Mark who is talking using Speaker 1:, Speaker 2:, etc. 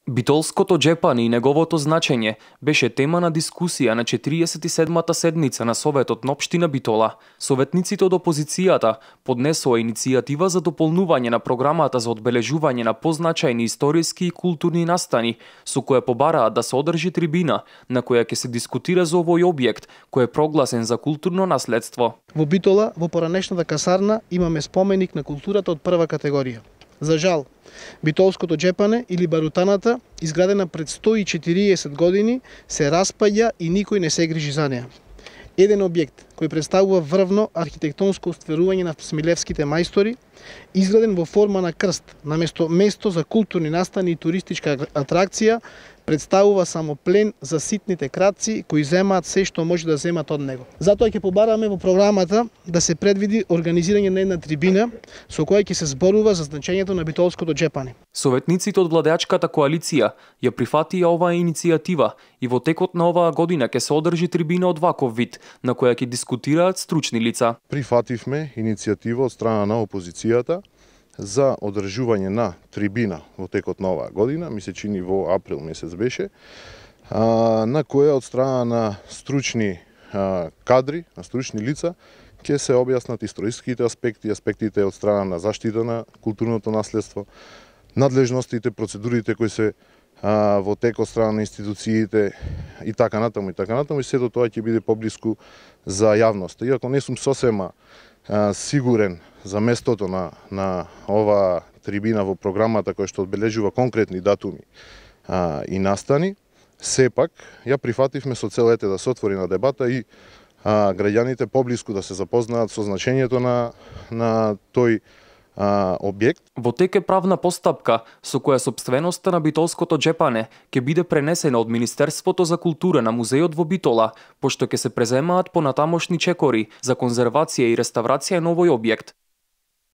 Speaker 1: Битолското џепани и неговото значење беше тема на дискусија на 47-та седница на Советот на општина Битола. Советниците од опозицијата поднесоа иницијатива за дополнување на програмата за одбележување на позначајни историски и културни настани, со која побараа да се одржи трибина на која ќе се дискутира за овој објект кој е прогласен за културно наследство.
Speaker 2: Во Битола, во поранешната касарна, имаме споменик на културата од прва категорија. За жал, Битолското џепане или барутаната, изградена пред 140 години, се распаѓа и никој не се грижи за неа. Еден објект кој представува врвно архитектонско остварување на смилевските мајстори, изграден во форма на крст, наместо место за културни настани и туристичка атракција, представува само плен за ситните кратци кои земаат се што може да земат од него. Затоа ќе побараме во програмата да се предвиди организирање на една трибина со која ќе се зборува за значењето на Битолското џепане.
Speaker 1: Советниците од владеачката коалиција ја прифатија оваа иницијатива и во текот на оваа година ќе се одржи трибина од ваков вид, на која ќе дискутираат стручни лица.
Speaker 3: Прифативме иницијатива од страна на опозицијата за одржување на трибина во текот на оваа година, ми се чини во април месец беше, на која од страна на стручни кадри, на стручни лица, ќе се објаснат историските аспекти, аспектите од страна на заштита на културното наследство, надлежностите, процедурите кои се во тек од страна на институциите и така натаму, и сето тоа ќе биде поблиску за јавноста. Иако не сум сосема сигурен за местото на оваа трибина во програмата која што одбележува конкретни датуми и настани, сепак ја прифативме со цел да се отвори на дебата и граѓаните поблиску да се запознаат со значењето на тој објект.
Speaker 1: Во тек е правна постапка со која сопственоста на Битолското џепане ќе биде пренесена од Министерството за култура на музејот во Битола, пошто ќе се преземаат понатамошни чекори за конзервација и реставрација на овој објект.